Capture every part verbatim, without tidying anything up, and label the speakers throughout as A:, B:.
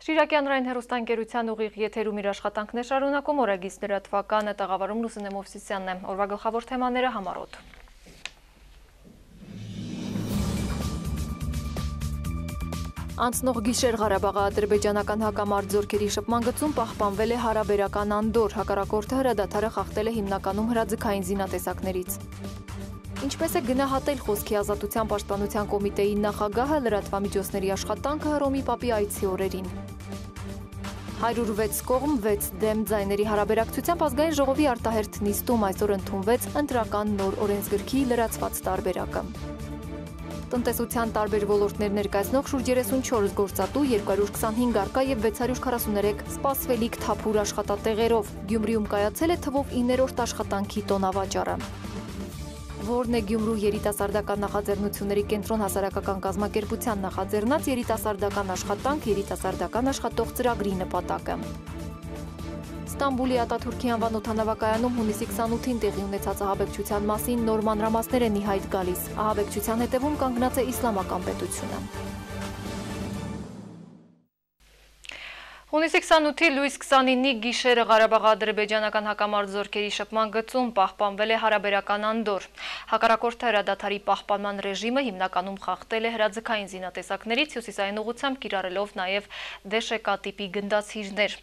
A: Շիրակի հանրային հեռուստաընկերության ուղիղ եթերում իր աշխատանքն է շարունակում օրագիս լրատվականը տաղավարում Լուսինե Մովսիսյանն է։ Օրվա գլխավոր թեմաները համառոտ։ Անցնող գիշեր Ղարաբաղի ադրբեջանական հակամարտ զորքերի շփման գծում պահպանվել է հարաբերական անդորր, հակառակորդը հրադադարը խախտել է հիմնականում հրաձգային զինատեսակներից։ Ինչպես է գնահատել խոսքի ազատության պաշտպանության կոմիտեի նախագահը լրատվամիջոցների աշխատանքը Հռոմի Պապի այցի օրերին։ հարյուր վեց կողմ վեց դեմ ձայների հարաբերակցությամբ ազգային ժողովի արտահերթ նիստում այսօր ընդունվեց ընտրական նոր օրենսգրքի լրացված տարբերակը։ Տնտեսության տարբեր ոլորտներ ներկայացնող շուրջ երեսունչորս գործատու, երկու հարյուր քսանհինգ արկա եւ վեց հարյուր քառասուներեք սպասվելիք թափուր աշխատատեղերով։ Գյումրիում կայացել է թվով իններորդ աշխատանքի տոնավաճառը։ Որն է Գյումրու երիտասարդական նախաձեռնությունների կենտրոն հասարակական կազմակերպության նախաձեռնած երիտասարդական աշխատանք, երիտասարդական աշխատող ծրագրի նպատակը։ Ստամբուլի Ատաթուրքի անվան օդանավակայանում հունիսի քսանութին տեղի ունեցած ահաբեկչության մասին նոր մանրամասներ են ի հայտ գալիս։ Ահաբեկչության հետևում կանգնած է իսլամական պետությունը։ Հունիսի քսանութի լույս քսանինի գիշերը Ղարաբաղի ադրբեջանական հակամարտ զորքերի շփման գծում պահպանվել է հարաբերական անդորր։ Հակառակորդը հրադադարի պահպանման ռեժիմը հիմնականում խախտել է հրաձգային զինատեսակներից, հյուսիսային ուղղությամբ կիրառելով նաև դեշեկա տիպի գնդացիրներ։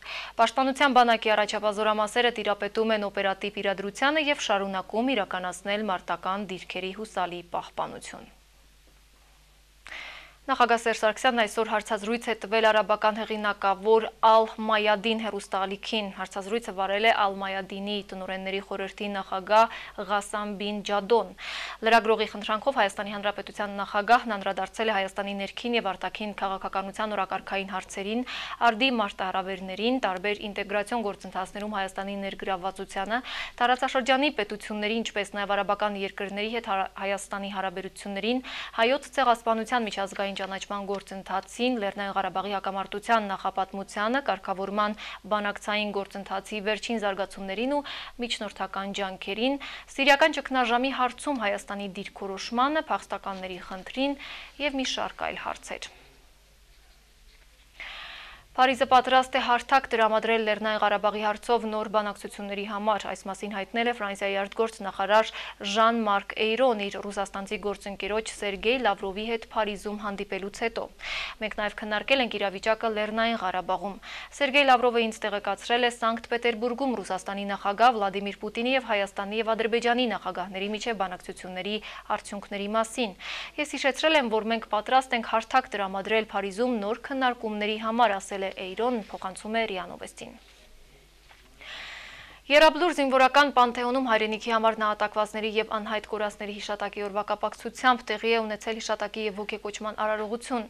A: Պաշտպանության բանակի առաջապահ զորամասերը տիրապետում են օպերատիվ իրադրությանը եւ շարունակում իրականացնել մարտական դիրքերի հուսալի պահպանություն։ Նախագահ Սերժ Սարգսյանն այսօր հարցազրույց է տվել արաբական հեղինակավոր Ալ-Մայադին հեռուստաալիքին։ Հարցազրույցը վարել է Ալ-Մայադինի տնօրենների խորհրդի նախագահ Ղասամ բին Ջադոն։ Լրագրողի խնդրանքով Հայաստանի Հանրապետության նախագահն անդրադարձել է Հայաստանի ներքին եւ արտաքին քաղաքականության օրակարգային հարցերին, արդի մարտահրավերներին, տարբեր ինտեգրացիոն գործընթացներում Հայաստանի ներգրավվածությանը, տարածաշրջանի պետությունների, ինչպես նաեւ արաբական երկրների հետ Հայաստանի հարաբերություններին, հայոց ցեղասպանության միջազգային ճանաչման գործընթացին, Լեռնային Ղարաբաղի հակամարտության նախապատմությանը, կարգավորման բանակցային գործընթացի վերջին զարգացումներին ու միջնորդական ջանքերին, սիրիական ճգնաժամի հարցում Հայաստանի դիրքորոշմանը, փախստականների խնդրին եւ մի շարք այլ հարցեր։ Փարիզը պատրաստ է հարթակ տրամադրել Լեռնային Ղարաբաղի հարցով նոր բանակցությունների համար։ Այս մասին հայտնել է Ֆրանսիայի արտգործնախարար Ժան-Մարկ Էյրոն իր ռուսաստանցի գործընկերոջ Սերգեյ Լավրովի հետ Փարիզում հանդիպելուց հետո։ Մենք նաև քննարկել ենք իրավիճակը Լեռնային Ղարաբաղում։ Սերգեյ Լավրովը ինձ տեղեկացրել է Սանկտ Պետերբուրգում Ռուսաստանի նախագահ Վլադիմիր Պուտինի եւ Հայաստանի եւ Ադրբեջանի նախագահների միջև բանակցությունների արդյունքների մասին։ Ես հիշեցրել եմ, որ մենք պատրաստ ենք հարթակ տրամադրել Փարիզում նոր քննարկումների համար, ասել Էյրոն, փոխանցում է ՌԻԱ Նովեստին։ Եռաբլուր զինվորական պանթեոնում հայրենիքի համար նահատակվածների եւ անհայտ կորածների հիշատակի օրվա կապակցությամբ տեղի է ունեցել հիշատակի եւ ոգեկոչման արարողություն։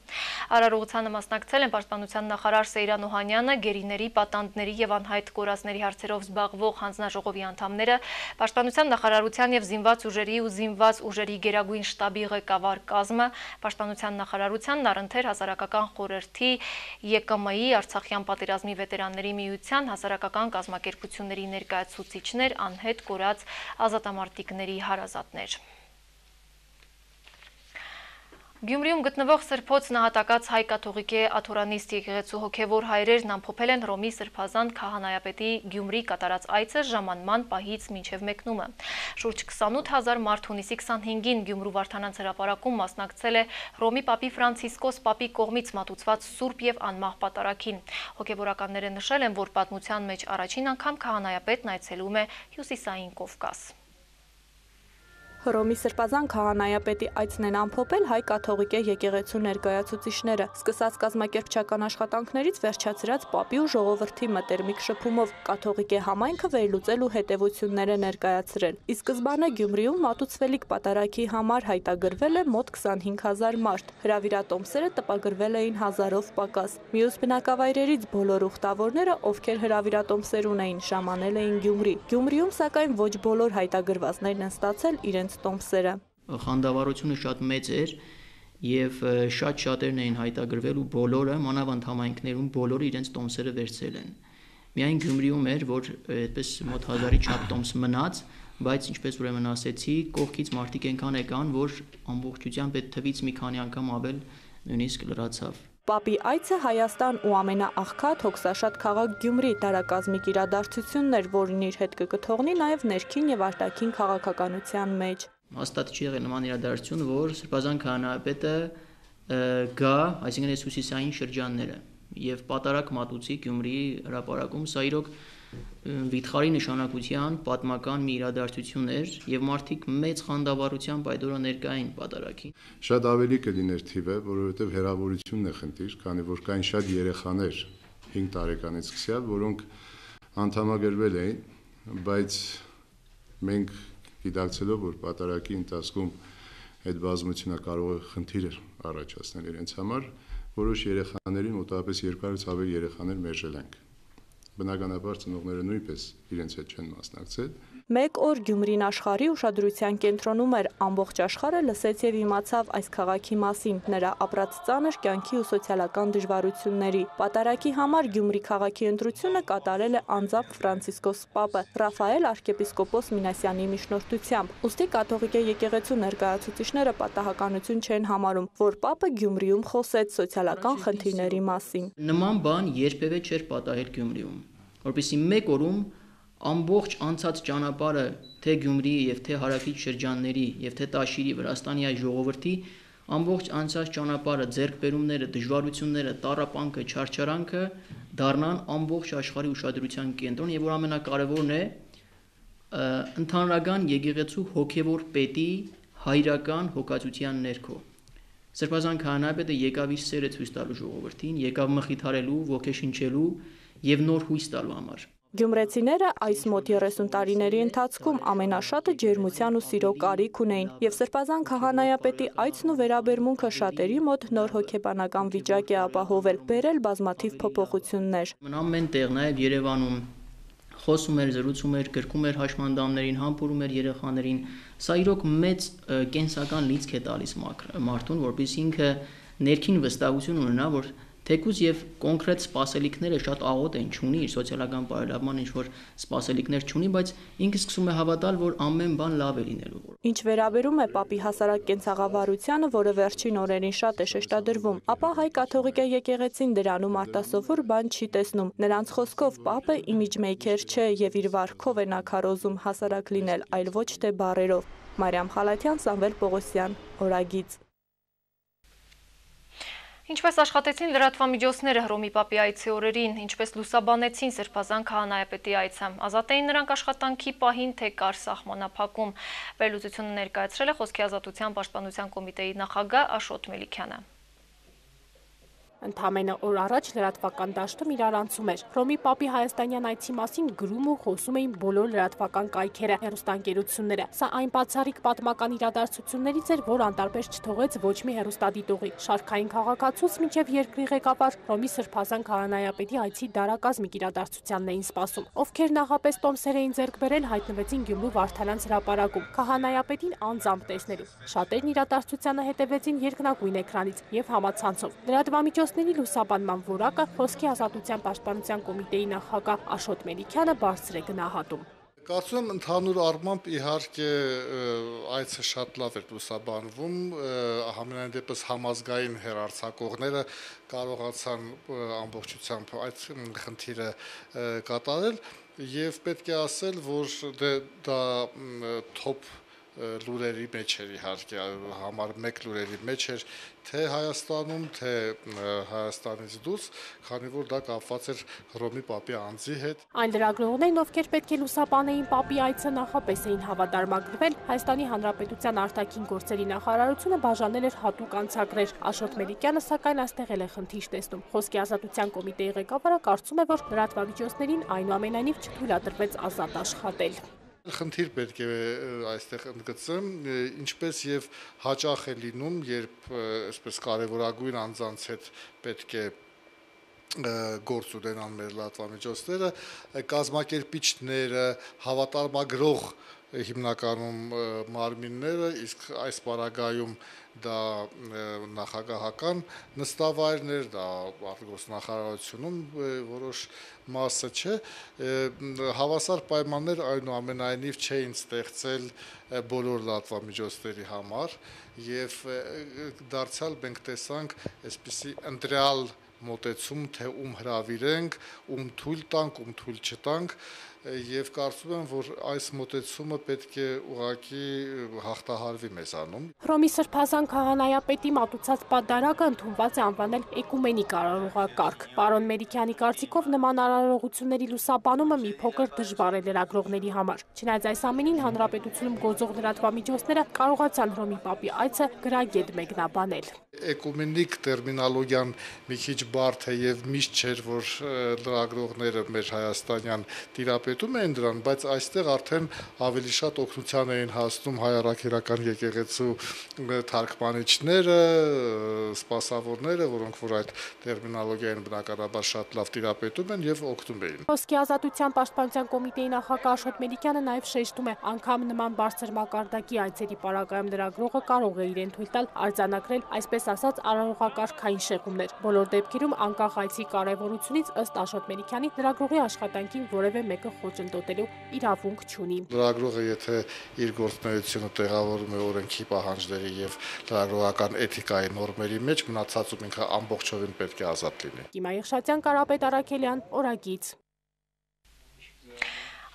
A: Արարողությանը մասնակցել են պաշտպանության նախարար Սեյրան Օհանյանը, գերիների, պատանդների եւ անհայտ կորածների հարցերով զբաղվող հանձնաժողովի անդամները, պաշտպանության նախարարության եւ զինված ուժերի ու զինված ուժերի գերագույն շտաբի ղեկավար կազմը, պաշտպանության նախարարությանն առընթեր հասարակական խորհրդի ԵԿՄ-ի, Արցախյան պատերազմի վետերանների միության, հասարակական կազմակերպությունների ներկայացուցիչներ, անհետ կորած ազատամարտիկների հարազատներ։ Գյումրիում գտնվող Սրբոց նահատակած հայ կաթողիկե աթորանիստ եկեղեցու հոգևոր հայրերն ամփոփել են Հռոմի Սրբազան քահանայապետի Գյումրի կատարած այցը ժամանման պահից մինչև մեկնումը։ Շուրջ քսանութ հազար մարդ հունիսի քսանհինգին Գյումրու Վարդանանց հրապարակում մասնակցել է Հռոմի Պապի Ֆրանցիսկոս Պապի կողմից մատուցված սուրբ եւ անմահ պատարագին։ Հոգևորականները նշել են, որ պատմության մեջ առաջին անգամ քահանայապետն այցելում է Հյուսիսային Կովկաս։
B: Հռոմի Սրբազան քահանայապետի այցն են ամփոփել հայ կաթողիկե եկեղեցու ներկայացուցիչները, սկսած կազմակերպչական աշխատանքներից վերջացրած Պապի ու ժողովրդի մտերմիկ շփումով կաթողիկե համայնքը վերլուծել ու հետևություններ է ներկայացրել։ Ի սկզբանե Գյումրիում մատուցվելիք պատարագի համար հայտագրվել է մոտ քսանհինգ հազար մարդ։ Հրավիրատոմսերը տպագրվել էին հազարով պակաս։ Մյուս բնակավայրերից բոլոր ուխտավորները, ովքեր հրավիրատոմսեր ունեին, ժամանել էին Գյումրի։ Գյումրիում սակայն ոչ բոլոր հայտագրվածներն են ստացել իրենց տոմսերը։
C: Խանդավառությունը շատ մեծ էր եւ շատ շատերն էին հայտագրվել ու բոլորը մանավանդ համայնքներում բոլորը իրենց տոմսերը վերցրել են։ Միայն Գյումրիում էր, որ այդպես մոտ հազարի չափ տոմս մնաց, բայց ինչպես ուրեմն ասեցի, կողքից մարդիկ այնքան եկան, որ ամբողջությամբ այդ թվից մի քանի անգամ ավել նույնիսկ լրացավ։
B: Պապի այցը Հայաստան ու ամենաաղքատ հոգսաշատ քաղաք Գյումրի դարակազմիկ իրադարձությունն էր, որին իր հետ կկթողնի նաև ներքին եւ արտաքին քաղաքականության մեջ։
C: Հաստատ չի եղել նման իրադարձություն, որ Սրբազան քահանայապետը գա, այսինքն այս հյուսիսային շրջանները եւ պատարակ մատուցի Գյումրիի հրապարակում, սա իրոք վիթխարի նշանակության պատմական մի իրադարձություն էր եւ մարդիկ մեծ խանդավառությամբ այդ օրը ներկային պատարակին։
D: Շատ ավելի կլիներ թիվը, որովհետեւ հեռավորությունն է խնդիր, քանի որ կային շատ երեխաներ հինգ տարեկանից սկսյալ, որոնք անդամագրվել էին, բայց մենք գիտակցելով, որ պատարակի ընթացքում այդ բազմությունը կարող է խնդիր առաջացնել իրենց համար, որոշ երեխաներին մոտավորապես երկու հարյուրից ավել երեխաներ մերժել ենք։ Բնականաբար ծնողները նույնպես իրենց հետ չեն մասնակցել։
B: Մեկ օր Գյումրին աշխարհի ուշադրության կենտրոնում էր, ամբողջ աշխարհը լսեց եւ իմացավ այս քաղաքի մասին, նրա ապրած ծանր կյանքի ու սոցիալական դժվարությունների։ Պատարակի համար Գյումրի քաղաքի ընտրությունը կատարել է անձամբ Ֆրանցիսկոս Պապը, Ռաֆայել arczepiskopos Մինասյանի միջնորդությամբ։ Ուստի կաթողիկ եկեղեցու ներկայացուցիչները պատահականություն չեն համարում, որ Պապը Գյումրիում խոսեց սոցիալական խնդիրների մասին։
C: Նման բան երբևէ չէր պատահել Գյումրիում, որպեսզի մեկ օրում ամբողջ անցած ճանապարհը թե Գյումրիի եւ թե հարավից շրջանների եւ թե Տաշիրի Վրաստանի այ ժողովրդի ամբողջ անցած ճանապարհը ձեռքբերումները, դժվարությունները, տառապանքը, չարչարանքը դառնան ամբողջ աշխարհի ուշադրության կենտրոն եւ որ ամենակարևորն է ընդհանրական եկեղեցու հոգեվոր պետի հայրական հոգացության ներքո։ Սրբազան քահանայապետը եկավ իր սերը ցույց տալու ժողովրդին, եկավ մխիթարելու, ոգեշնչելու եւ նոր հույս տալու համար։
B: Գյումրեցիները այս մոտ երեսուն տարիների ընթացքում ամենաշատը ջերմության ու սիրո կարիք ունեին եւ Սրբազան քահանայապետի այցն ու վերաբերմունքը շատերի մոտ նոր հոգեբանական վիճակ է ապահովել, բերել բազմաթիվ փոփոխություններ։
C: Ամեն տեղ նաեւ Երևանում խոսում էր, զրուցում էր, գրկում էր հաշմանդամներին, համբուրում էր երեխաներին։ Սա իրոք մեծ կենսական լիցք է տալիս մարդուն, որպեսզի ինքը ներքին վստահություն ունենա, որ թեկուզ եւ կոնկրետ սպասելիքները շատ աղոտ են, չունի իր սոցիալական բարելավման ինչ որ սպասելիքներ չունի, բայց ինքը սկսում է հավատալ, որ ամեն բան լավ է լինելու։
B: Ինչ վերաբերում է Պապի հասարակ կենցաղավարությանը, որը վերջին օրերին շատ է շեշտադրվում, ապա հայ կաթողիկ եկեղեցին դրանում արտասովոր բան չի տեսնում։ Նրանց խոսքով Պապը իմիջմեյքեր չէ եւ իր վարքով է նա քարոզում հասարակ լինել, այլ ոչ թե բառերով։ Մարիամ Խալաթյան, Սամվել Պողոսյան, Օրագիծ։
A: Ինչպես աշխատեցին լրատվամիջոցները Հռոմի Պապի այցի օրերին, ինչպես լուսաբանեցին Սրբազան քահանայապետի այցը, ազատ էին նրանք աշխատանքի պահին, թե կար սահմանափակում։ Վերլուծությունը ներկայացրել է Խոսքի ազատության պաշտպանության կոմիտեի նախագահ Աշոտ Մելիքյանը։
E: Ընդամենը օր առաջ լրատվական դաշտում իրարանցում էր։ Հռոմի Պապի հայաստանյան այցի մասին գրում ու խոսում էին բոլոր լրատվական կայքերը, հեռուստաընկերությունները։ Սա այն բացառիկ պատմական իրադարձություններից էր, որ անտարբեր չթողեց ոչ մի հեռուստադիտողի։ Շարքային քաղաքացուց մինչև երկրի ղեկավար Հռոմի Սրբազան քահանայապետի այցի դարակազմիկ իրադարձությանն էին սպասում։ Ովքեր նախապես տոմսեր էին ձեռք բերել, հայտնվեցին Գյումրու Վարդանանց հրապարակում քահանայապետին անձամբ տեսնելու։ Շատերն իրադարձությանը հետևեցին երկնագույն էկրանից եւ համացանցով։ Լրատվամիջոցների լուսաբանման որակը Խոսքի ազատության պաշտպանության կոմիտեի նախագահ Աշոտ Մելիքյանը բարձր է գնահատում։
F: Կարծում եմ ընդհանուր առմամբ իհարկե այցը շատ լավ էր լուսաբանվում, համենայն դեպս համազգային հեռարձակողները կարողացան ամբողջությամբ այդ խնդիրը կատարել եւ պետք է ասել, որ դա թոփ լուրերի մեջ էր իհարկե համար մեկ լուրերի մեջ էր թե Հայաստանում, թե Հայաստանից դուրս, քանի որ դա կապված էր Հռոմի Պապի անձի հետ։
E: Այն լրագրողներն, ովքեր պետք է լուսաբանեին Պապի այցը, նախապես էին հավատարմագրվել, Հայաստանի Հանրապետության արտաքին գործերի նախարարությունը բաժանել էր հատուկ անցագրեր։ Աշոտ Մելիքյանը սակայն այստեղ էլ է խնդիր տեսնում։ Խոսքի ազատության կոմիտեի ղեկավարը կարծում է, որ լրատվամիջոցներին այնուամենայնիվ չթույլատրվեց ազատ աշխատել։
F: Խնդիր պետք է այստեղ ընդգծեմ, ինչպես եւ հաճախ է լինում, երբ այսպես կարևորագույն անձանց հետ պետք է գործ ունենան մեր լրատվամիջոցները, կազմակերպիչները, հավատարմագրող հիմնականում մարմինները, իսկ այս պարագայում դա նախագահական նստավայրներ, դա արտգործնախարարությունում որոշ մասը չէ, հավասար պայմաններ այնուամենայնիվ չէին ստեղծել բոլոր լրատվամիջոցների համար եւ դարձյալ մենք տեսանք այսպիսի ընտրյալ մոտեցում, թե ում հրավիրենք, ում թույլ տանք, ում թույլ չտանք եւ կարծում եմ, որ այս մոտեցումը պետք է ուղղակի հաղթահարվի մեզանում։
E: Հռոմի Սրբազան քահանայապետի մատուցած պատդարակը ընդունված է անվանել էկումենիկ արարողակարգ։ Պարոն Մերիքյանի կարծիքով նման արարողությունների լուսաբանումը մի փոքր դժվար է լրագրողների համար։ Չնայած այս ամենին հանրապետությունում գործող լրատվամիջոցները կարողացան Հռոմի Պապի այցը գրագետ մեկնաբանել։
F: Էկումենիկ տերմինոլոգիան մի քիչ բարդ է եւ միշտ չէր, որ լրագրողները մեր հայաստանյան տիրապետում էին դրան, բայց այստեղ արդեն ավելի շատ օգնության էին հասնում հայ առաքելական եկեղեցու թարգմանիչները, սպասավորները, որոնք որ այդ տերմինոլոգիային բնականաբար շատ լավ տիրապետում են եւ օգնում էին։
E: Խոսքի ազատության պաշտպանության կոմիտեի նախագահ Աշոտ Մելիքյանը նաեւ շեշտում է, անգամ նման բարձր մակարդակի այցերի պարագայում լրագրողը կարող է իրեն թույլ տալ արձանագրել այսպես ասած արարողակարգային շեղումներ։ Բոլոր դեպքերում անկախ այցի կարևորությունից ըստ Աշոտ Մելիքյանի լրագրողի աշխատանքին որևէ մեկը խոչընդոտելու իրավունք չունի։
F: Լրագրողը եթե իր գործունեությունը տեղավորում է օրենքի պահանջների եւ լրագրողական էթիկայի նորմերի մեջ, մնացածում ինքը ամբողջովին պետք է ազատ լինի։
E: Կիմա Եղշատյան, Կարապետ Արաքելյան, Օրագիծ։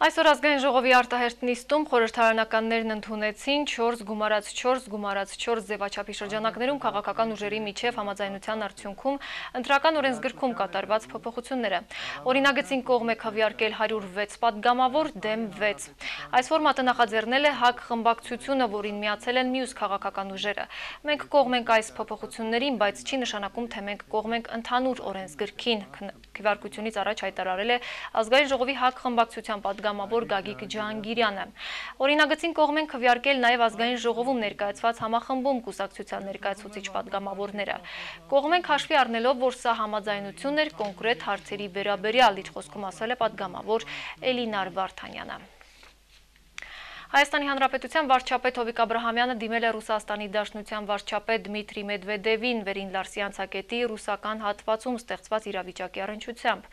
A: Այսօր ազգային ժողովի արտահերթ նիստում խորհրդարանականներն ընդունեցին չորս գումարած չորս գումարած չորս ձևաչափի շրջանակներում քաղաքական ուժերի միջև համաձայնության արդյունքում ընտրական օրենսգրքում կատարված փոփոխությունները։ Օրինագծին կողմ է քվեարկել հարյուր վեց պատգամավոր դեմ վեց։ Այս ֆորմատը նախաձեռնել է ՀԱԿ խմբակցությունը, որին միացել են մյուս քաղաքական ուժերը։ Մենք կողմ ենք այս փոփոխություններին, բայց չի նշանակում, թե մենք կողմ ենք ընդհանուր օրենսգրքին։ Քվեարկությունից առաջ հայտարարել է ազգային ժողովի ՀԱԿ խմբակցության պատգամավոր Գագիկ Ջահանգիրյանը։ Օրինագծին կողմ են քվեարկել նաև ազգային ժողովում ներկայացված համախմբում կուսակցության ներկայացուցիչ պատգամավորները։ Կողմ ենք հաշվի առնելով, որ սա համաձայնություն էր կոնկրետ հարցերի վերաբերյալ, իր խոսքում ասել է պատգամավոր Էլինար Վարդանյանը։ Հայաստանի Հանրապետության վարչապետ Հովիկ Աբրահամյանը դիմել է Ռուսաստանի Դաշնության վարչապետ Դմիտրի Մեդվեդևին վերին Լարսի անցակետի ռուսական հատվածում ստեղծված իրավիճակի առնչությամբ։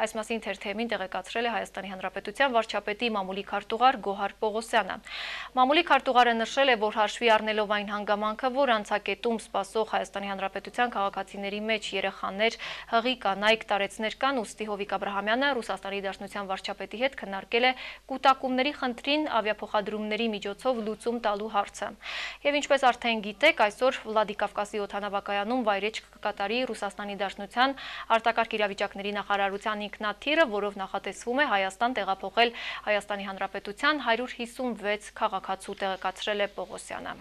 A: Այս մասին թերթեմին տեղեկացրել է Հայաստանի Հանրապետության վարչապետի մամուլի քարտուղար Գոհար Պողոսյանը։ Մամուլի քարտուղարը նշել է, որ հաշվի առնելով այն հանգամանքը, որ անցակետում սպասող Հայաստանի Հանրապետության քաղաքացիների մեջ երեխաներ, հղի կանայք, տարեցներ կան, ուստի Հովիկ Աբրահամյանը Ռուսաստանի Դաշնության վարչապետի հետ քննարկել է կուտակումների խնդրին ավիափոխադրումների միջոցով լուծում տալու հարցը։ Եվ ինչպես արդեն գիտեք, այսօր Վլադիկավկասի օդանավակայանում վայրեջք կկատարի Ռուսաստանի Դաշնության արտակարգ իրավիճակների նախարարության ինքնաթիռը, որով նախատեսվում է Հայաստան տեղափոխել Հայաստանի Հանրապետության հարյուր հիսունվեց քաղաքացու, տեղեկացրել է Պողոսյանը։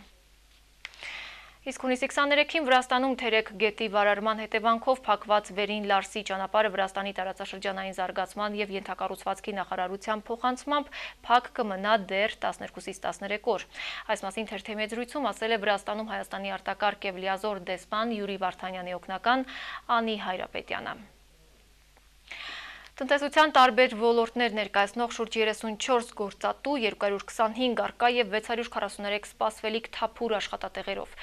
A: Իսկ հունիսի քսաներեքին Վրաստանում Թերեկ գետի վարարման հետևանքով փակված վերին Լարսի ճանապարհը Վրաստանի տարածաշրջանային զարգացման եւ ենթակառուցվածքի նախարարության փոխանցմամբ փակ կմնա դեռ տասներկուսից տասներեք օր։ Այս մասին թերթի մեծրույցում ասել է Վրաստանում Հայաստանի արտակարգ եւ լիազոր դեսպան Յուրի Վարդանյանի օգնական Անի Հայրապետյանը։ Տնտեսության տարբեր ոլորտներ ներկայացնող շուրջ երեսունչորս գործատու, երկու հարյուր քսանհինգ առկա եւ վեց հարյուր քառասուներեք սպասվելիք թափուր աշխատատեղերով։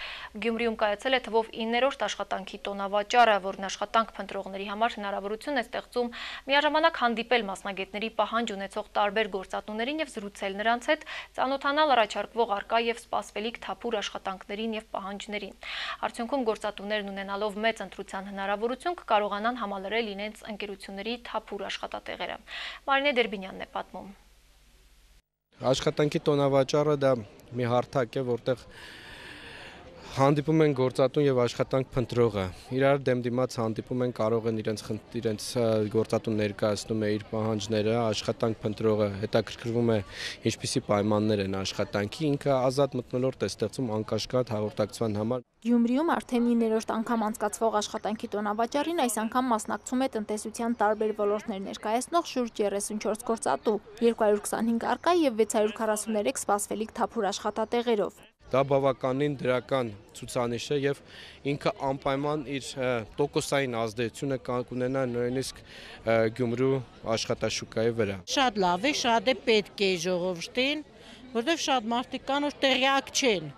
A: Գյումրիում կայացել է թվով իններորդ աշխատանքի տոնավաճառը, որն աշխատանք փնտրողների համար հնարավորություն է ստեղծում միաժամանակ հանդիպել մասնագետների պահանջ ունեցող տարբեր գործատուներին եւ զրուցել նրանց հետ, ծանոթանալ առաջարկվող առկա եւ սպասվելիք թափուր աշխատանքներին եւ պահանջներին։ Արդյունքում գործատուներն ունենալով մեծ ընտրության հնարավորություն կկարողանան համալրել իրենց ընկերությունների թափուր աշխատատեղերը։ Մարինե Դերբինյանն է պատմում։
G: Աշխատանքի տոնավաճառը դա մի հարթակ է, որտեղ հանդիպում են գործատուն եւ աշխատանք փնտրողը։ Իրար դեմ դիմաց հանդիպում են, կարող են իրենց իրենց գործատուն ներկայացնում է իր պահանջները, աշխատանք փնտրողը հետաքրքրվում է ինչպիսի պայմաններ են աշխատանքի, ինքը ազատ մթնոլորտ է ստեղծում անկաշկատ հաղորդակցության համար։
H: Գյումրիում արդեն իններորդ անգամ անցկացվող աշխատանքի տոնավաճառին այս անգամ մասնակցում է տնտեսության տարբեր ոլորտներ ներկայացնող շուրջ երեսունչորս գործատու, երկու հարյուր քսանհինգ առկա եւ վեց հարյուր քառասուներեք սպասվելիք թափուր աշխատատեղերով։
G: Դա բավականին դրական ցուցանիշ է եւ ինքը անպայման իր տոկոսային ազդեցությունը կունենա նույնիսկ Գյումրու աշխատաշուկայի վրա։
I: Շատ լավ է, շատ է պետք է ժողովրդին, որտեղ շատ մարդիկ կան, որ տեղյակ չեն։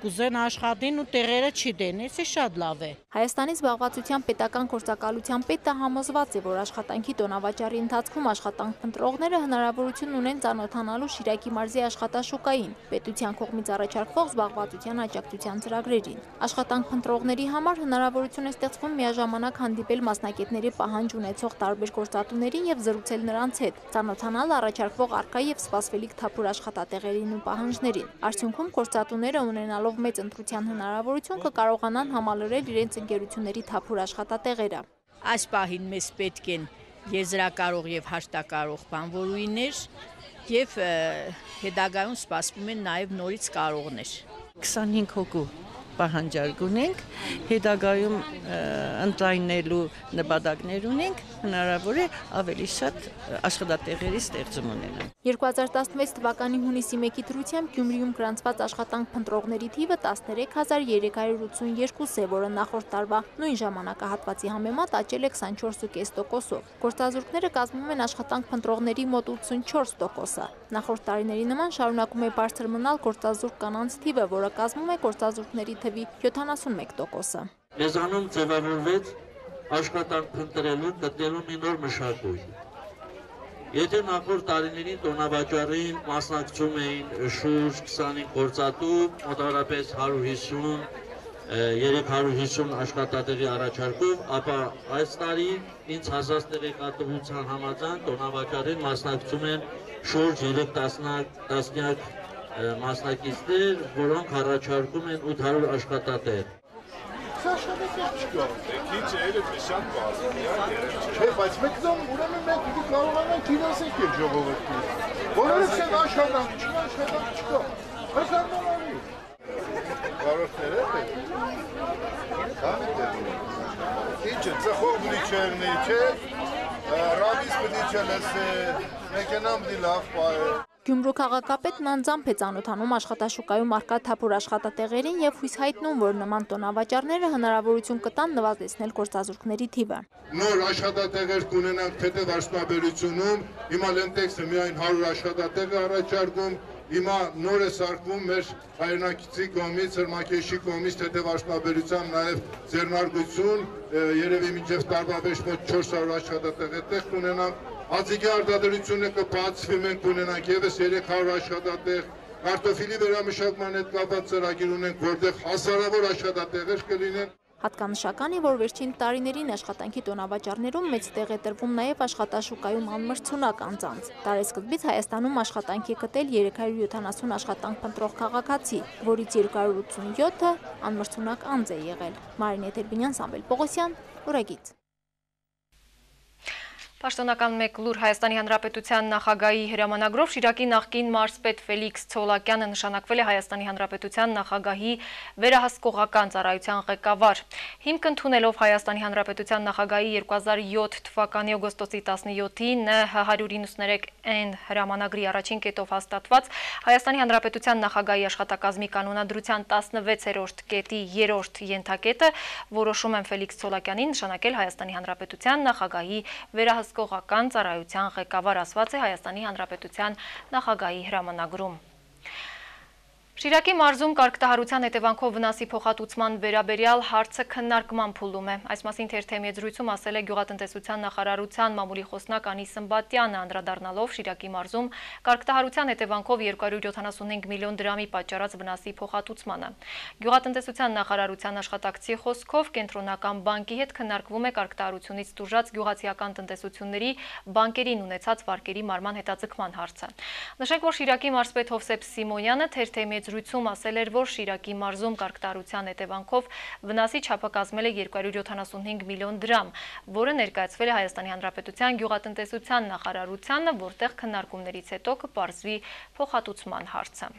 I: Կուզեն աշխատին ու տեղերը չի դեն, էսի շատ լավ է։
H: Հայաստանի զբաղվածության պետական գործակալության պետը համոզված է, որ աշխատանքի տոնավաճառի ընթացքում աշխատանք փնտրողները հնարավորություն ունեն ծանոթանալու Շիրակի մարզի աշխատաշուկային, պետության կողմից առաջարկվող զբաղվածության աջակցության ծրագրերին։ Աշխատանք փնտրողների համար հնարավորություն է ստեղծվում միաժամանակ հանդիպել մասնագետների պահանջ ունեցող տարբեր գործատուներին եւ զրուցել նրանց հետ, ծանոթանալ առաջարկվող առկա եւ սպասվելիք թափուր աշխատատեղերին ու պահանջներին։ Արդյունքում գործատուները ունենալով մեծ ընտրության հնարավորություն կկարողանան համալրել իրենց ընկերությունների թափուր աշխատատեղերը։
J: Այս պահին մեզ պետք են եզրակարող եւ հաշտակարող բանվորուհիներ եւ հետագայում սպասվում են նաեւ նորից կարողներ։
I: քսանհինգ հոգու պահանջարկ ունենք, հետագայում ընդլայնելու նպատակներ ունենք, հնարավոր է ավելի շատ աշխատատեղերի ստեղծում ունենալ։
H: երկու հազար տասնվեց թվականի հունիսի մեկի դրությամբ Գյումրիում գրանցված աշխատանք փնտրողների թիվը տասներեք հազար երեք հարյուր ութսունյերկու է, որը նախորդ տարվա նույն ժամանակահատվածի համեմատ աճել է քսանչորս կես տոկոսով։ Գործազուրկները կազմում են աշխատանք փնտրողների մոտ ութսունչորս տոկոսը։ Նախորդ տարիների նման շարունակում է բարձր մնալ գործազուրկ կանանց թիվը, որը կազմում է գործազուրկների թվի յոթանասունմեկ տոկոսը։
K: Մեզանում ձևավորվեց աշխատանք փնտրելու գտնելու մի նոր մշակույթ։ Եթե նախորդ տարիներին տոնավաճառին մասնակցում էին շուրջ քսանհինգ գործատու, մոտավորապես հարյուր հիսուն երեք հարյուր հիսուն աշխատատեղի առաջարկով, ապա այս տարի ինձ հասած տեղեկատվության համաձայն տոնավաճառին մասնակցում են շուրջ երեք տասնյակ մասնակիցներ, որոնք առաջարկում են ութ հարյուր աշխատատեղ։
L: Սա շատ է չկա։ Քիչ էլ է շատ բարձր։ Չէ, բայց մեկ դեմ ուրեմն մենք պիտի կարողանանք ֆինանսենք այդ ժողովրդին։ Որովհետև չեն աշխատանք, չկա աշխատանք չկա։ Հազարմանալի։ Կարողները է։ Քանի դեպքում։ Ինչ է, ծխող բլի չեղնի, չէ։ Ռաբիս բլի չլսե, մեքենան բլի լավ պայե։
H: Գյումրու քաղաքապետն անձամբ է ծանոթանում աշխատաշուկայում առկա թափուր աշխատատեղերին եւ հույս հայտնում, որ նման տոնավաճառները հնարավորություն կտան նվազեցնել գործազուրկների թիվը։
L: Նոր աշխատատեղեր կունենանք թեթև հիմա Լենտեքսը միայն հարյուր աշխատատեղ է առաջարկում, հիմա նոր է սարքվում մեր հայրենակիցի կողմից, Հրմակեշի կողմից թեթև աշխատաբերությամբ նաեւ ձեռնարկություն, երևի մինչեւ տարվա վերջ մոտ չորս հարյուր աշխատատեղ այդտեղ կունենանք։ Ածիկի արտադրությունը կբացվի, մենք ունենանք եւս երեք հարյուր աշխատատեղ, կարտոֆիլի վերամշակման հետ կապված ծրագիր ունենք, որտեղ հազարավոր աշխատատեղեր կլինեն։
H: Հատկանշական է, որ վերջին տարիներին աշխատանքի տոնավաճառներում մեծ տեղ է տրվում նաև աշխատաշուկայում անմրցունակ անձանց։ Տարեսկզբից Հայաստանում աշխատանք է գտել երեք հարյուր յոթանասուն աշխատանք փնտրող քաղաքացի, որից երկու հարյուր ութսունյոթը անմրցունակ անձ է եղել։ Մարինե Տերբինյան, Սամվել Պողոսյան, Ուրագից։
A: Պաշտոնական մեկ լուր Հայաստանի Հանրապետության նախագահի հրամանագրով Շիրակի նախկին մարզպետ Ֆելիքս Ցոլակյանը նշանակվել է Հայաստանի Հանրապետության նախագահի վերահսկողական ծառայության ղեկավար։ Հիմք ընդունելով Հայաստանի Հանրապետության նախագահի երկու հազար յոթ թվականի օգոստոսի տասնյոթին հարյուր իննսուներեք N հրամանագրի առաջին կետով հաստատված Հայաստանի Հանրապետության նախագահի աշխատակազմի կանոնադրության տասնվեցերորդ կետի երրորդ ենթակետը որոշում են Ֆելիքս Ցոլակյանին նշանակել Հայաստանի Հանրապետության նախագահի վերահսկողական ծառայության ղեկավար, ասված է Հայաստանի Հանրապետության նախագահի հրամանագրում։ Շիրակի մարզում կարգտահարության հետևանքով վնասի փոխհատուցման վերաբերյալ հարցը քննարկման փուլում է։ Այս մասին թերթի եզրույցում ասել է Գյուղատնտեսության նախարարության մամուլի խոսնակ Անի Սմբատյանը, անդրադառնալով Շիրակի մարզում կարգտահարության հետևանքով երկու հարյուր յոթանասունհինգ միլիոն դրամի պատճառած վնասի փոխհատուցմանը։ Գյուղատնտեսության նախարարության աշխատակցի խոսքով Կենտրոնական բանկի հետ քննարկվում է կարգտահարությունից տուժած գյուղացիական տնտեսությունների բանկերին ունեցած վարկերի մարման հետաձգման հարցը։ Նշենք, որ Շիրակի մարզպետ Հովսեփ Սիմոնյանը թերթի զրույցում ասել էր, որ Շիրակի մարզում կարգտահարության հետևանքով վնասի չափը կազմել է երկու հարյուր յոթանասունհինգ միլիոն դրամ, որը ներկայացվել է Հայաստանի Հանրապետության գյուղատնտեսության նախարարությանը, որտեղ քննարկումներից հետո կպարզվի փոխհատուցման հարցը։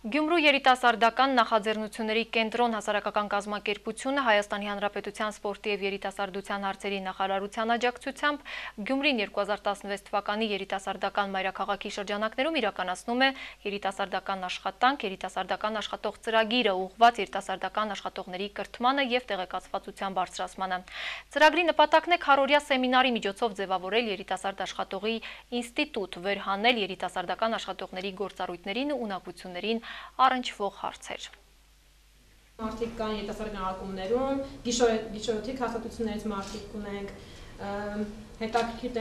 A: Գյումրու երիտասարդական նախաձեռնությունների կենտրոն հասարակական կազմակերպությունը Հայաստանի Հանրապետության սպորտի և երիտասարդության հարցերի նախարարության աջակցությամբ Գյումրին երկու հազար տասնվեց թվականի երիտասարդական մայրաքաղաքի շրջանակներում իրականացնում է երիտասարդական աշխատանք, երիտասարդական աշխատող ծրագիրը ուղղված երիտասարդական աշխատողների կրթմանը և տեղեկացվածության բարձրացմանը։ Ծրագրի նպատակն է քառօրյա սեմինարի միջոցով ձևավորել երիտասարդ աշխատողի ինստիտուտ, վերհանել երիտասարդական աշխատողների գործառույթներին ու ունակություններին առնչվող հարցեր։
M: Մարդիկ կան երիտասարդական ակումբներում, գիշերօթիկ հաստատություններից մարդիկ ունենք, հետաքրքիր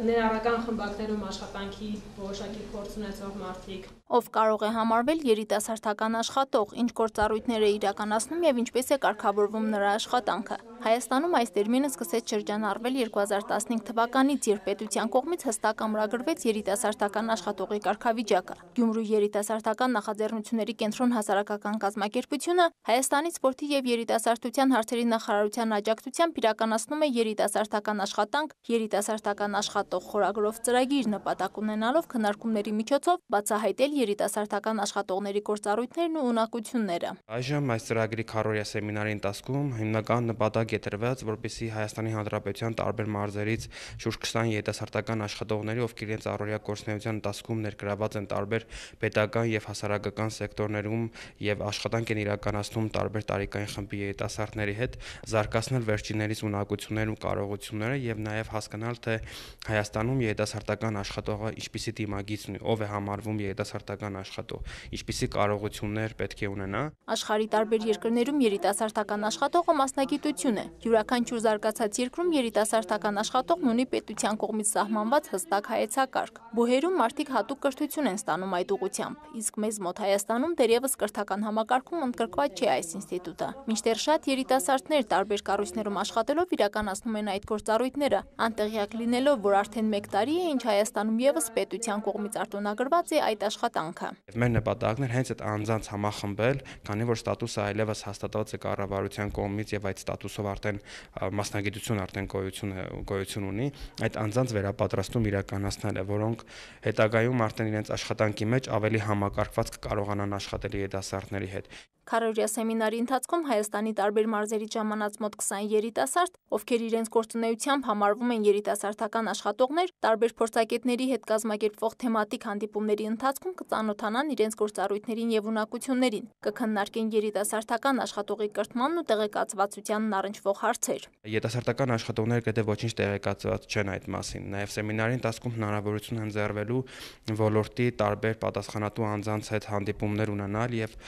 M: ներառական խմբակներում աշխատանքի որոշակի փորձ ունեցող մարդիկ։
H: Ով կարող է համարվել երիտասարդական աշխատող, ինչ գործառույթներ է իրականացնում և ինչպես է կարգավորվում նրա աշխատանքը։ Հայաստանում այս տերմինը սկսեց շրջանառվել երկու հազար տասնհինգ թվականից, երբ պետության կողմից հստակ ամրագրվեց երիտասարդական աշխատողի կարգավիճակը։ Գյումրու երիտասարդական նախաձեռնությունների կենտրոն հասարակական կազմակերպությունը Հայաստանի սպորտի և երիտասարդության հարցերի նախարարության աջակցությամբ իրականացնում է երիտասարդական աշխատանք, երիտասարդական աշխատող խորագրով ծրագիր, նպատակ ունենալով քննարկումների միջոցով բացահայտել երիտասարդական աշխատողների գործառույթներն ու ունակությունները։
G: Այժմ այս ծրագրի քառօրյա սեմինարի ընթացքում հիմնական նպատակ է դրված, որպեսզի Հայաստանի Հանրապետության տարբեր մարզերից շուրջ քսան երիտասարդական աշխատողների, ովքեր իրենց առօրյա գործունեության ընթացքում ներգրաված են տարբեր պետական և հասարակական սեկտորներում և աշխատանք են իրականացնում տարբեր տարիքային խմբի երիտասարդների հետ, զարգացնել վերջիններիս ունակություններն ու կարողությունները և նաև հասկանալ, թե Հայաստանում երիտասարդական աշխատողը ինչպիսի դիմագիծ ունի, ով է համարվում երիտասարդական աշխատող, ինչպիսի կարողություններ պետք է ունենա։
H: Աշխարհի տարբեր երկրներում երիտասարդական աշխատողը մասնագիտություն է։ Յուրաքանչյուր զարգացած երկրում երիտասարդական աշխատողն ունի պետության կողմից սահմանված հստակ հայեցակարգ։ Բուհերում մարդիկ հատուկ կրթություն են ստանում այդ ուղղությամբ, իսկ մեզ մոտ Հայաստանում դեռևս կրթական համակարգում ընդգրկված չէ այս ինստիտուտը։ Մինչդեռ շատ երիտասարդներ տարբեր կառույցներում աշխատելով իրականացնում են այդ գործառույթները, անտեղյակ լինելով, որ արդեն մեկ տարի է, ինչ Հայաստանում ևս պետության կողմից արտոնագրված է այդ աշխատանքը։
G: Մեր նպատակն էր հենց այդ անձանց համախմբել, քանի որ ստատուսը այլևս հաստատված է կառավարության կողմից եւ այդ ստատուսով արդեն մասնագիտություն արդեն գոյություն գոյություն ունի, այդ անձանց վերապատրաստում իրականացնել է, որոնք հետագայում արդեն իրենց աշխատանքի մեջ ավելի համակարգված կկարողանան աշխատել երիտասարդների հետ։
H: Քառօրյա սեմինարի ընթացքում Հայաստանի տարբեր մարզերից ժամանած մոտ քսան երիտասարդ, ովքեր իրենց գործունեությամբ համարվում են երիտասարդական աշխատողներ, տարբեր փորձագետների հետ կազմակերպվող թեմատիկ հանդիպումների ընթացքում կծանոթանան իրենց գործառույթներին եւ ունակություններին, կքննարկեն երիտասարդական աշխատողի կրթմանն ու տեղեկացվածությանն առնչվող հարցեր։
G: Երիտասարդական աշխատողները գրեթե ոչինչ տեղեկացված չեն այդ մասին։ Նաեւ սեմինարի ընթացքում հնարավորություն են ընձեռվելու ոլորտի տարբեր պատասխանատու անձանց հետ հանդիպումներ ունենալ եւ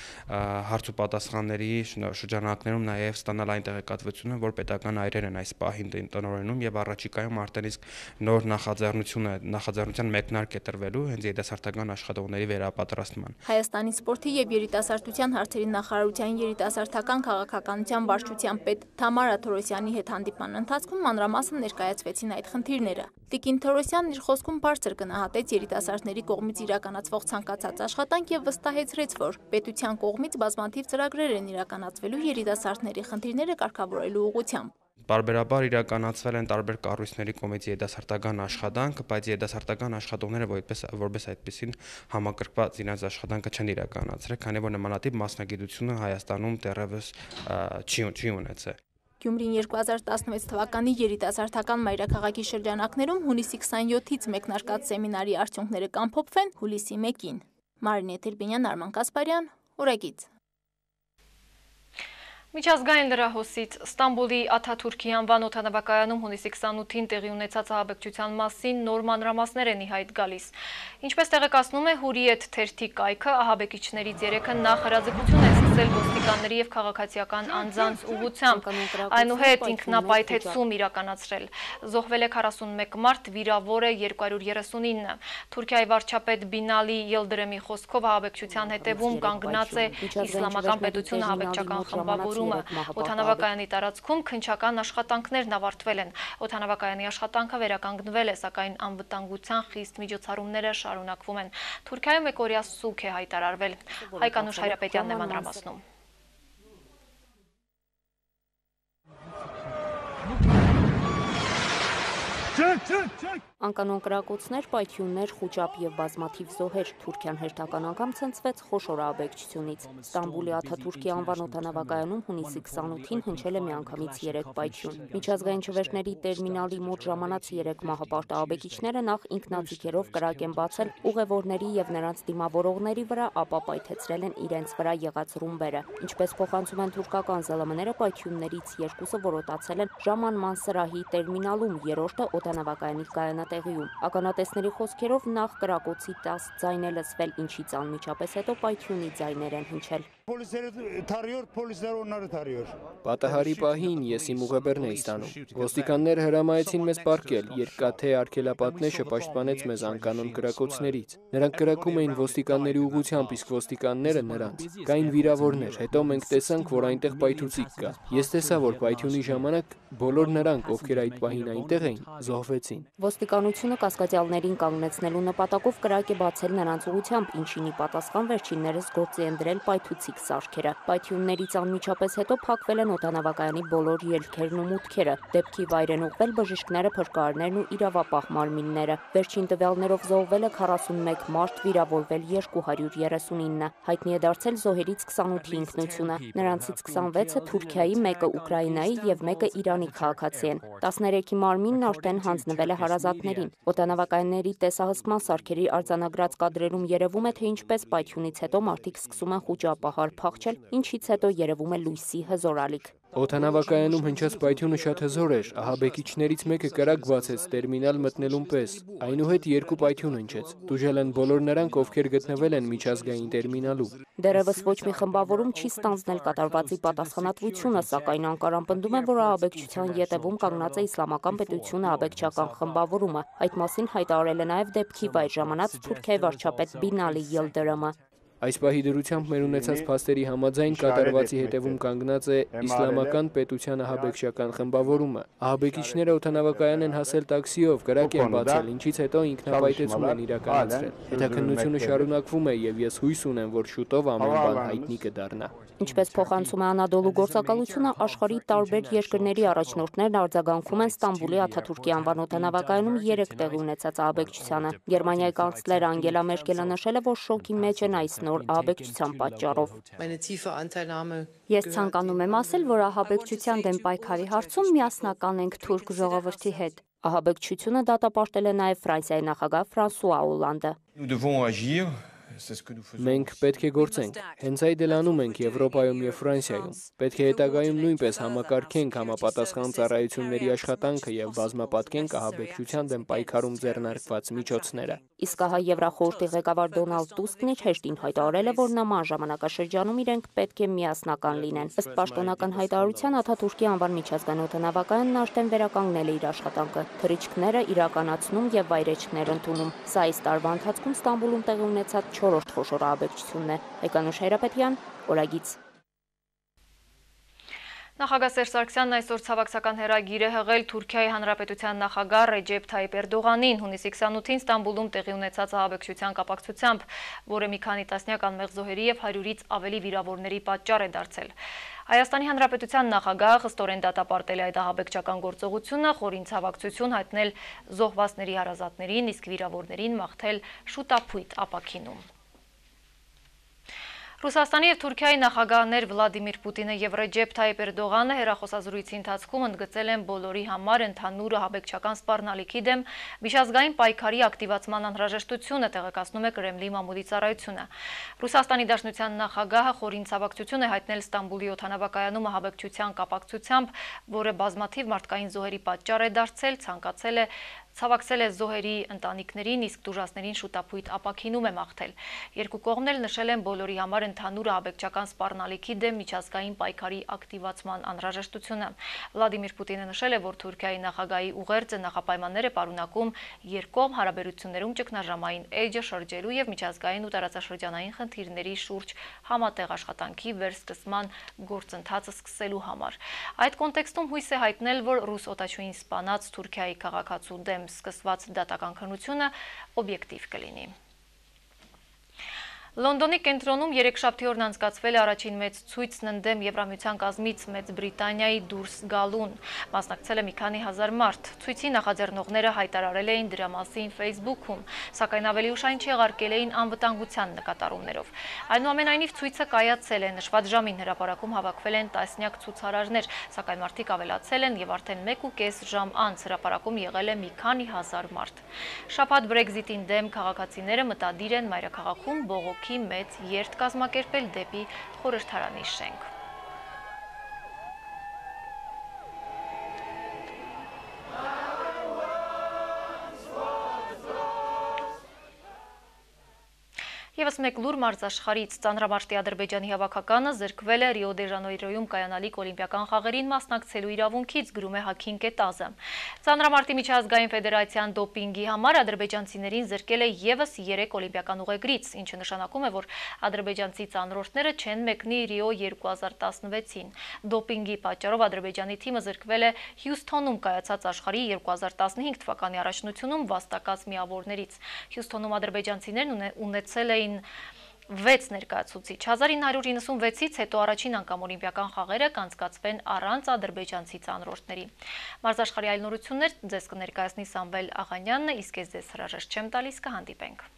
G: հարց ու պատասխանների շրջանակներում նաև ստանալ այն տեղեկատվությունը, որ պետական այրեր են այս պահին տնօրենում եւ առաջիկայում արդեն իսկ նոր նախաձեռնությունը, նախաձեռնության մեկնարկ է տրվելու հենց երիտասարդական աշխատողների վերապատրաստման։
H: Հայաստանի սպորտի եւ երիտասարդության հարցերի նախարարության երիտասարդական քաղաքականության վարչության պետ Թամարա Թորոսյանի հետ հանդիպման ընթացքում մանրամասն ներկայացվեցին այդ խնդիրները։ Տիկին Թորոսյանն իր խոսքում բարձր գնահատեց երիտասարդների կողմից իրականացվող ցանկացած աշխատանք եւ վստահեցրեց, որ պետության կողմից բազմաթիվ ծրագրեր են իրականացվելու երիտասարդների խնդիրները կարգավորելու ուղղությամբ։
G: Բարբերաբար իրականացվել են տարբեր կառույցների կողմից երիտասարդական աշխատանք, բայց երիտասարդական աշխատողները որպես որպես այդպեսին համակրկված իրենց աշխատանքը չեն իրականացրել, քանի որ նմանատիպ մասնագիտությունը Հայաստանում դեռևս չի չի ունեցել։
H: Գյումրին երկու հազար տասնվեց թվականի երիտասարդական մայրաքաղաքի շրջանակներում հունիսի քսաներկուից մեկնարկած սեմինարի արդյունքները կամփոփվեն հուլիսի մեկին։ Մարինե Տերբինյան, Արման Կասպարյան, Ուրագից։
A: Միջազգային լրահոսից Ստամբուլի Աթաթուրքի անվան օդանավակայանում հունիսի քսանութին տեղի ունեցած ահաբեկչության մասին նոր մանրամասներ են ի հայտ գալիս։ Ինչպես տեղեկացնում է Հուրիեթ թերթի կայքը, ահաբեկիչներից երեքը նախ հրաձգություն են սկսել ոստիկանների և քաղաքացիական անձանց ուղղությամբ, այնուհետ ինքնապայթեցում իրականացրել։ Զոհվել է քառասունմեկ մարդ, վիրավոր է երկու հարյուր երեսունինը։ Թուրքիայի վարչապետ Բինալի Ելդրեմի խոսքով ահաբեկչության հետևում կանգնած է Իսլամական պետությունը ահաբեկչական խմբավորում։ Օդանավակայանի տարածքում քննչական աշխատանքներն ավարտվել են։ Օդանավակայանի աշխատանքը վերականգնվել է, սակայն անվտանգության խիստ միջոցառումները շարունակվում են։ Թուրքիայում եկօրյա սուգ է հայտարարվել։ Հայկանուշ Հայրապետյանն է մանրամասնում։
N: Անկանոն կրակոցներ, պայթյուններ, խուճապ եւ բազմաթիվ զոհեր Թուրքիան հերթական անգամ ցնցվեց խոշոր ահաբեկչությունից։ Ստամբուլի Աթաթուրքի անվան օդանավակայանում հունիսի քսանութին հնչել է միանգամից երեք պայթյուն։ Միջազգային ջվերների տերմինալի մոտ ժամանած երեք մահապարտ ահաբեկիչները նախ ինքնաձիգերով կրակ են բացել ուղևորների եւ նրանց դիմավորողների վրա, ապա պայթեցրել են իրենց վրա եղած ռումբերը։ Ինչպես փոխանցում են թուրքական ԶԼՄ-ները, պայթյուններից երկուսը որոտացել են ժամանման սրահի տերմինալում, երրորդը օդանավակայանի կայանատեղիում։ Ականատեսների խոսքերով նախ կրակոցի տաս ձայն է լսվել, ինչից անմիջապես հետո պայթյունի ձայներ են հնչել։
G: Պատահարի պահին ես իմ ուղեբեռն էի ստանում։ Ոստիկանները հրամայեցին մեզ պառկել, երկաթե արգելապատնեշը պաշտպանեց մեզ անկանոն կրակոցներից։ Նրանք կրակում էին ոստիկանների ուղղությամբ, իսկ ոստիկանները նրանց։ Կային վիրավորներ, հետո մենք տեսանք, որ այնտեղ պայթուցիկ կա։ Ես տեսա, որ պայթյունի ժամանակ բոլոր նրանք, ովքեր այդ պահին այնտեղ էին, զոհվեցին։
N: Ոստիկանությունը կասկածյալներին կանգնեցնելու նպատակով կրակ է բացել նրանց ուղղությամբ, ինչին ի պատասխան վերջիններս գործի են դրել պայթուցիկ սարքերը։ Պայթյուններից անմիջապես հետո փակվել են օդանավակայանի բոլոր ելքերն ու մուտքերը։ Դեպքի վայր են ուղղվել բժիշկները, փրկարարներն ու իրավապահ մարմինները։ Վերջին տվյալներով զոհվել է քառասունմեկ մարդ, վիրավորվել երկու հարյուր երեսունինը։ Հայտնի է դարձել զոհերից քսանութի ինքնությունը։ Նրանցից քսանվեցը Թուրքիայի, մեկը Ուկրաինայի եւ մեկը Իրանի քաղաքացի են։ տասներեքի մարմինն արդեն հանձնվել է հարազատներին։ Օդանավակայանների տեսահսկման սարքերի արձանագրած կադրերում երևում է, թե ինչպես պայթյունից հետո մարդիկ սկսում են խուճապահար փախչել, ինչից հետո երևում է լույսի հզոր ալիք։
G: Օդանավակայանում հնչած պայթյունը շատ հզոր էր, ահաբեկիչներից մեկը կրակ բացեց տերմինալ մտնելուն պես, այնուհետ երկու պայթյուն հնչեց։ Տուժել են բոլոր նրանք, ովքեր գտնվել են միջազգային տերմինալում։
N: Դեռևս ոչ մի խմբավորում չի ստանձնել կատարվածի պատասխանատվությունը, սակայն Անկարան պնդում է, որ ահաբեկչության ետևում կանգնած է Իսլամական պետությունը ահաբեկչական խմբավորումը։ Այդ մասին հայտարարել է նաև դեպքի վայր ժամանած Թուրքիայի վարչապետ Բինալի Յիլդիրամը։
G: Այս պահի դրությամբ մեր ունեցած փաստերի համաձայն կատարվածի հետևում կանգնած է Իսլամական պետության ահաբեկչական խմբավորումը։ Ահաբեկիչները օդանավակայան են հասել տաքսիով, կրակ են բացել, ինչից հետո ինքնապայթեցում են իրականացրել։ Հետաքննությունը շարունակվում է եւ ես հույս ունեմ, որ շուտով ամեն բան հայտնի կդառնա։
N: Ինչպես փոխանցում է Անադոլու գործակալությունը, աշխարհի տարբեր երկրների առաջնորդներն արձագանքում են Ստամբուլի Աթաթուրքի անվան օդանավակայանում երեք տեղի ունեցած ահաբեկչությանը։ Գերմանիայի կանցլեր Անգելա Մերկելը նշել է, որ շոկի մեջ են այս նոր ահաբեկչության պատճառով։ Ես ցանկանում եմ ասել, որ ահաբեկչության դեմ պայքարի հարցում միասնական ենք թուրք ժողովրդի հետ։ Ահաբեկչությունը դատապարտել է նաև Ֆրանսիայի նախագահ Ֆրանսուଆ Օլանդը։
G: Մենք պետք է գործենք։ Հենց այդ էլ անում ենք Եվրոպայում եւ Ֆրանսիայում։ Պետք է հետագայում նույնպես համակարգենք համապատասխան ծառայությունների աշխատանքը եւ բազմապատկենք ահաբեկչության դեմ պայքարում ձեռնարկված միջոցները։
N: Իսկ ահա Եվրախորհրդի ղեկավար Դոնալդ Տուսկն իր հեշտին հայտարարել է, որ նման ժամանակաշրջանում իրենք պետք է միասնական լինեն։ Ըստ պաշտոնական հայտարարության Աթաթուրքի անվան միջազգային օդանավակայանն արդեն վերականգնել է իր աշխատանքը, թռիչքները իրականացնում եւ վայրեջքներ ընդունում։ Սա այս տարվա ընթացքում Ստամբուլում տեղի ունեցած չորրորդ խոշոր ահաբեկչությունն է։ Էկանուշ Հայրապետյան, Օրագից։
A: Նախագահ Սերժ Սարգսյանն այսօր ցավակցական հեռագիր է հղել Թուրքիայի Հանրապետության նախագահ Ռեջեփ Թայիփ Էրդողանին հունիսի քսանութին Ստամբուլում տեղի ունեցած ահաբեկչության կապակցությամբ, որը մի քանի տասնյակ անմեղ զոհերի եւ հարյուրից ավելի վիրավորների պատճառ է դարձել։ Հայաստանի Հանրապետության նախագահը խստորեն դատապարտել է այդ ահաբեկչական գործողությունը, խորին ցավակցություն հայտնել զոհվածների հարազատներին, իսկ վիրավորներին մաղթել շուտապույտ ապաքինում։ Ռուսաստանի և Թուրքիայի նախագահներ Վլադիմիր Պուտինը և Ռեջեփ Թայիփ Էրդողանը հեռախոսազրույցի ընթացքում ընդգծել են բոլորի համար ընդհանուր ահաբեկչական սպառնալիքի դեմ միջազգային պայքարի ակտիվացման անհրաժեշտությունը, տեղեկացնում է Կրեմլի մամուլի ծառայությունը։ Ռուսաստանի Դաշնության նախագահը խորին ցավակցություն է հայտնել Ստամբուլի օդանավակայանում ահաբեկչության կապակցությամբ, որը բազմաթիվ մարդկային զոհերի պատճառ է դարձել, ցանկացել է Ցավակցել է զոհերի ընտանիքներին, իսկ տուժածներին շուտապույտ ապաքինում է մաղթել։ Երկու կողմն էլ նշել են բոլորի համար ընդհանուր ահաբեկչական սպառնալիքի դեմ միջազգային պայքարի ակտիվացման անհրաժեշտությունը։ Վլադիմիր Պուտինը նշել է, որ Թուրքիայի նախագահի ուղերձը նախապայմաններ է պարունակում երկկողմ հարաբերություններում ճգնաժամային էջը շրջելու եւ միջազգային ու տարածաշրջանային խնդիրների շուրջ համատեղ աշխատանքի վերսկսման գործընթացը սկսելու համար։ Այդ կոնտեքստում հույս է հայտնել, որ ռուս օտաչուին սպանած Թուրքիայի քաղաքացու դեմ սկսված դատական քննությունը օբյեկտիվ կլինի։ Լոնդոնի կենտրոնում երեքշաբթի օրն անցկացվել է առաջին մեծ ցույցն ընդդեմ Եվրամիության կազմից Մեծ Բրիտանիայի դուրս գալուն։ Մասնակցել է մի քանի հազար մարդ։ Ցույցի նախաձեռնողները հայտարարել էին դրա մասին Facebook-ում, սակայն ավելի ուշ այն չեղարկել էին անվտանգության նկատառումներով։ Այնուամենայնիվ ցույցը կայացել է, նշված ժամին հրապարակում հավաքվել են տասնյակ ցուցարարներ, սակայն մարդիկ ավելացել են եւ արդեն մեկ ու կես ժամ անց հրապարակում եղել է մի քանի հազար մարդ։ Շաբաթ Brexit-ին դեմ քաղաքացիները մտադիր են մայրաքաղաքում բողոք մեծ երթ կազմակերպել դեպի խորհրդարանի շենք։ Եվս մեկ լուր մարզաշխարհից ծանրամարտի Ադրբեջանի հավաքականը զրկվել է Ռիո դե Ժանեյրոյում կայանալիք օլիմպիական խաղերին մասնակցելու իրավունքից, գրում է Հաքին Կետազը։ Ծանրամարտի միջազգային ֆեդերացիան դոպինգի համար ադրբեջանցիներին զրկել է եւս երեք օլիմպիական ուղեգրից, ինչը նշանակում է, որ ադրբեջանցի ծանրորդները չեն մեկնի Ռիո երկու հազար տասնվեցին։ Դոպինգի պատճառով Ադրբեջանի թիմը զրկվել է Հյուսթոնում կայացած աշխարհի երկու հազար տասնհինգ թվականի առաջնությունում վաստակած միավորներից։ Հյուսթոնում ադրբեջանցիներն ունեցել էին վեց ներկայացուցիչ։ հազար ինը հարյուր իննսունվեցից հետո առաջին անգամ օլիմպիական խաղերը կանցկացվեն առանց ադրբեջանցի ծանրորդների։ Մարզաշխարհի այլ նորություններ ձեզ կներկայացնի Սամվել Աղանյանն, իսկ ես ձեզ հրաժեշտ չեմ տալիս, կհանդիպենք։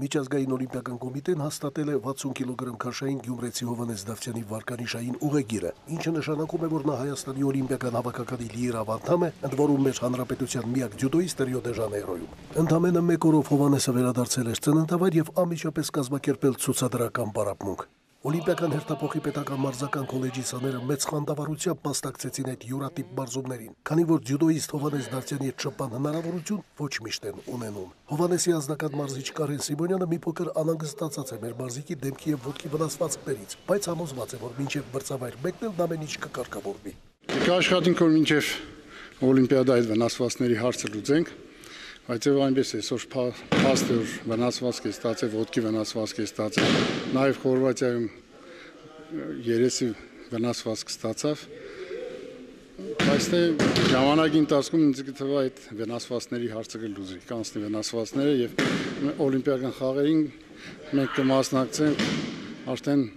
O: Միջազգային օլիմպիական կոմիտեն հաստատել է վաթսուն կիլոգրամ քաշային Գյումրեցի Հովհաննես Դավթյանի վարկանիշային ուղեգիրը, ինչը նշանակում է, որ նա Հայաստանի օլիմպիական հավաքականի լիիրավ անդամ է, ընդ որում մեր հանրապետության միակ ջյուդոիստ Ռիո դե Ժանեյրոյում։ Ընդամենը մեկ օրով Հովհաննեսը վերադարձել էր ծննդավայր եւ անմիջապես կազմակերպել ցուցադրական պարապմունք։ Օլիմպիական հերթափոխի պետական մարզական քոլեջի սաները մեծ խանդավառությամբ մասնակցեցին այդ յուրատիպ մարզումներին, քանի որ ջյուդոիստ Հովհաննես Դավթյանի հետ շփման հնարավորություն ոչ միշտ են ունենում։ Հովհաննեսի ազնական մարզիչ Կարեն Սիմոնյանը մի փոքր անհանգստացած է մեր մարզիկի դեմքի եւ ոտքի վնասվածքներից, բայց համոզված է, որ մինչեւ մրցավայր մեկնել ամեն ինչ կկարգավորվի։
P: Կաշխատենք, որ մինչեւ օլիմպիադայի վնասվածքների հարցը լուծենք, բայց եւ այնպես այսօր փաստ որ վնասվածք է ստացել, ոտքի վնասվածք է ստացել, նաեւ Խորվաթիայում երեսի վնասվածք ստացավ, բայց թե ժամանակի ընթացքում ինձ կթվա այդ վնասվածքների հարցը կլուծի, կանցնի վնասվածքները եւ օլիմպիական խաղերին մենք կմասնակցենք արդեն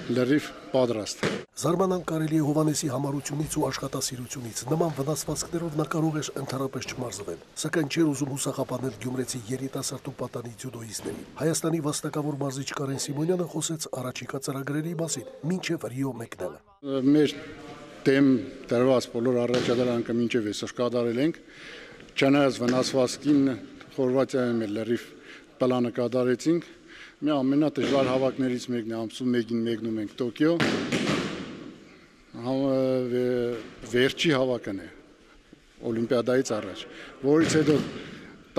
P: լրիվ պատրաստ։
O: Զարմանալ կարելի է Հովհաննեսի համառությունից ու աշխատասիրությունից, նման վնասվածքներով նա կարող էր ընդհանրապես չմարզվել, սակայն չէր ուզում հուսախապանել Գյումրեցի երիտասարդ ու պատանի ջյուդոիստներին։ Հայաստանի վաստակավոր մարզիչ Կարեն Սիմոնյանը խոսեց առաջիկա ծրագրերի մասին, մինչև Ռիո մեկնելը։
P: Մեր դեմ դրված բոլոր առաջադրանքը մինչև այսօր կատարել ենք, չնայած վնասվածքին Խորվաթիայում էլ լրիվ պլանը կատարեցինք։ Մի ամենադժվար հավաքներից մեկն է, ամսու մեկին մեկնում ենք Տոկիո, վերջի հավաքն է օլիմպիադայից առաջ, որից հետո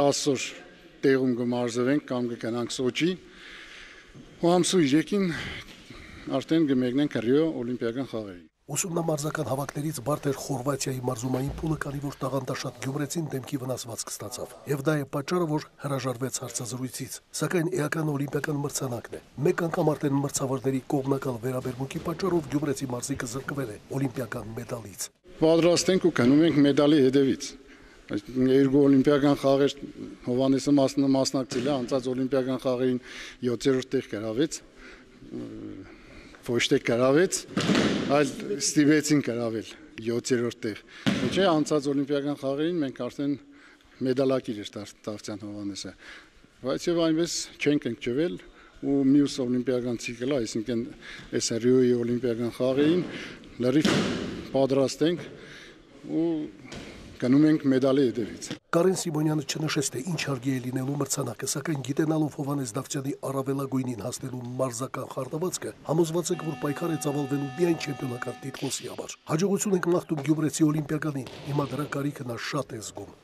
P: տասը օր տեղում կմարզվենք կամ կգնանք Սոչի, ու ամսու երեքին արդեն կմեկնենք Ռիո օլիմպիական խաղերին։
O: Ուսումնամարզական հավաքներից բարդ էր Խորվաթիայի մարզումային փուլը, քանի որ տաղանդաշատ Գյումրեցին դեմքի վնասվածք ստացավ, եւ դա է պատճառը, որ հրաժարվեց հարցազրույցից, սակայն էական օլիմպիական մրցանակն է։ Մեկ անգամ արդեն մրցավարների կողմնակալ վերաբերմունքի պատճառով Գյումրեցի մարզիկը զրկվել է օլիմպիական մեդալից։
P: Պատրաստ ենք ու գնում ենք մեդալի հետևից։ Երկու օլիմպիական խաղեր Հովհաննեսը մասնակցել է, անցած օլիմպիական խաղերին յոթերորդ տեղ գրավեց, ոչ թե գրավեց, այլ ստիպեցին գրավել յոթերորդ տեղ։ Չէ, անցած օլիմպիական խաղերին մենք արդեն մեդալակիր էր Դավթյան Հովհաննեսը, բայց եւ այնպես չենք ընկճվել ու մյուս օլիմպիական ցիկլը, այսինքն այս Ռիոյի օլիմպիական խաղերին լրիվ պատրաստ ենք ու գնում ենք մեդալի հետևից։
O: Կարեն Սիմոնյանը չնշեց, թե ինչ հարգի է լինելու մրցանակը, սակայն գիտենալով Հովհաննես Դավթյանի առավելագույնին հասնելու մարզական խարտավացքը, համոզված եք, որ պայքար է ծավալվելու միայն չեմպիոնական տիտղոսի համար։ Հաջողություն ենք մաղթում Գյումրեցի օլիմպիականին, հիմա դրա կարիքը նա շատ է զգում։